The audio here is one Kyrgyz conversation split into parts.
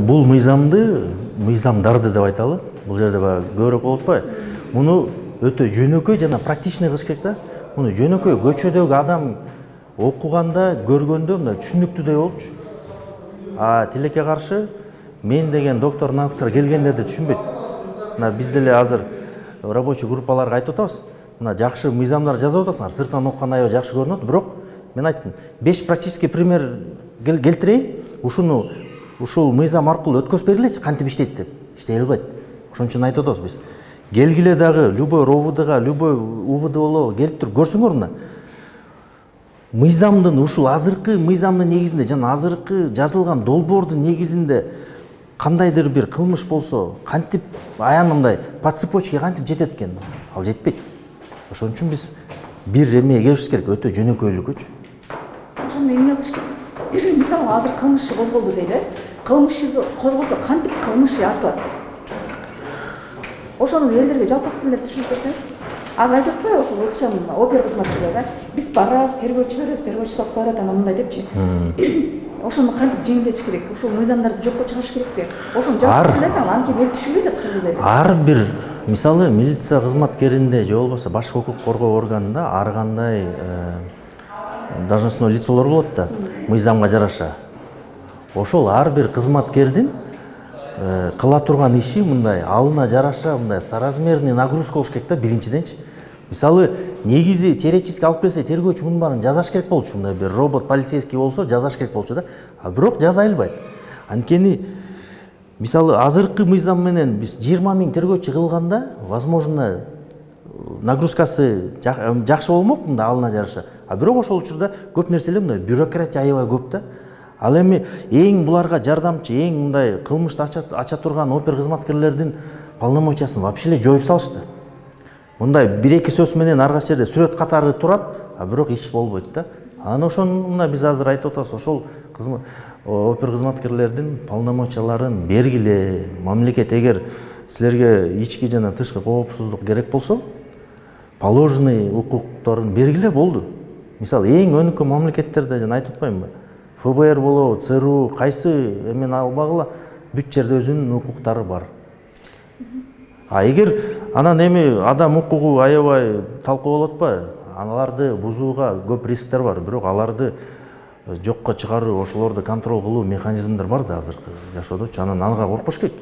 Бул мыйзамдарды деп айталы. Бул жерде көбүрөөк болуп атпайбы? Муну өтө жөнөкөй жана практичный кылыш керек да. Муну жөнөкөй көчөдөгү адам окуганда, көргөндө мындай түшүнүктүүдөй болчу. А тилекке каршы мен деген доктор келгендерди түшүнбөйт. Мына биз деле азыр рабочий группаларга айтып атабыз. Мына жакшы мыйзамдар жазып атасыңар, сырттан окканда аябай жакшы көрүнөт, бирок мен айттым, 5 практический пример келтирейин. Ушул мыйзам аркылуу өткөзүп бергилечи, кантип иштейт деп. Иштей албайт. Ошон үчүн айтып атабыз биз. Келгиле дагы любой РОВДга, любой УВДОго келип туруп көрсөңөр мына. Мыйзамдын ушул азыркы мыйзамдын негизинде жана азыркы жазылган долбоордун негизинде кандайдыр бир кылмыш болсо, кантип аянт мындай по цепочке кантип жетет экен? Ал жетпейт. Ошон үчүн биз бир эмеге келишибиз керек, өтө жөнөкөйлүкүчү. Ошону эмне кылыш керек? Мисалы азыр кылмыш козголду дейли. Кылмыш козголсо кантип кылмыш ачылат? Ошону элдерге жалпак тилде түшүнүп берсеңиз. Азыр айтып атпайбы ошол ыкчам опер кызматкерлери, биз барабыз, тергөөчү беребиз, тергөөчү сотко берет, ана мындай депчи. Ошону кантип жеңилдетиш керек? Ушул мыйзамдарды жокко чыгарыш керекпи? Ошону жапып билесең, анткени эл түшүнбөйт атат кыргыз эли. Ар бир мисалы милиция кызматкеринде же болбосо башка укук коргоо органында ар кандай должностной лицолор болот да, мыйзамга жараша. Ошол ар бир кызматкердин кыла турган иши мындай алына жараша мындай соразмерный нагрузка болуш керек да биринчиденчи. Мисалы негизи теоретически алып келсе тергөөчү мунун баарын жазаш керек болчу, мындай бир робот полицейский болсо жазаш керек болчу да. А бирок жаза албайт. Анткени мисалы азыркы мыйзам менен биз 20 000 тергөөчү кылганда, возможно, нагрузкасы жакшы болмок мындай алына жараша. А бирок ошол учурда көп нерселер мындай бюрократия аябай көп да. Ал эми эң буларга жардамчы, эң мындай кылмышты ача турган опер кызматкерлердин полномочиясын вообще эле жоюп салышты. Мындай 1-2 сөз менен ар кайсы жерде сүрөт катары турат, а бирок иш болбойт да. Анан ошону мына биз азыр айтып атабыз, ошол опер кызматкерлердин полномочияларын бергиле. Мамлекет эгер силерге ички жана тышкы коопсуздук керек болсо, положенный укуктарын бергиле болду. Мисалы эң өнүккөн мамлекеттерде жана айтып атпаймынбы? ФБР болобу, ЦРУ кайсы эмени албагыла бүт жерде өзүнүн укуктары бар. А эгер анан эми адам укугу аябай талкуу болуп атпайбы? Аналарды бузууга көп рисктер бар, бирок аларды жокко чыгаруу, ошолорду контроль кылуу механизмдер бар да азыркы жашоодочу. Анан анга коркпош керек.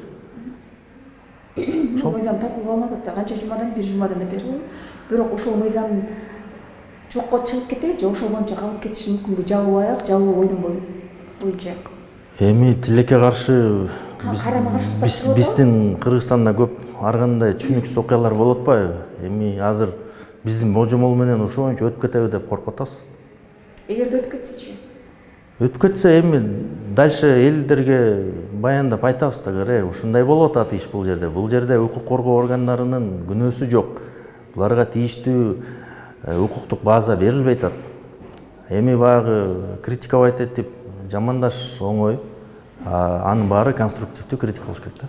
Ошол мыйзам талкууга алынып атат да, канча жумадан бир жумадан бери. Бирок ошол мыйзам жокко чыгып кетеби же ошол боюнча калып кетиши мүмкүнбү? Жабылбай-ак, жабылуу боюнча. Эми тилекке каршы карама-каршылык биздин Кыргызстанда көп ар кандай түшүнүксүз окуялар болуп атпайбы? Эми азыр биздин божомол менен ошол боюнча өтүп кетеби деп коркуп атабыз. Эгерде өтүп кетсечи? Өтүп кетсе эми дальше элдерге баяндап айтабыз да, ушундай болуп атат иш бул жерде. Бул жерде укук коргоо органдарынын күнөөсү жок. Буларга тийиштүү укуктук база берилбей атат. Эми баягы критиковать этип жамандаш оңой. Анын баары конструктивдүү критика болуш керек да.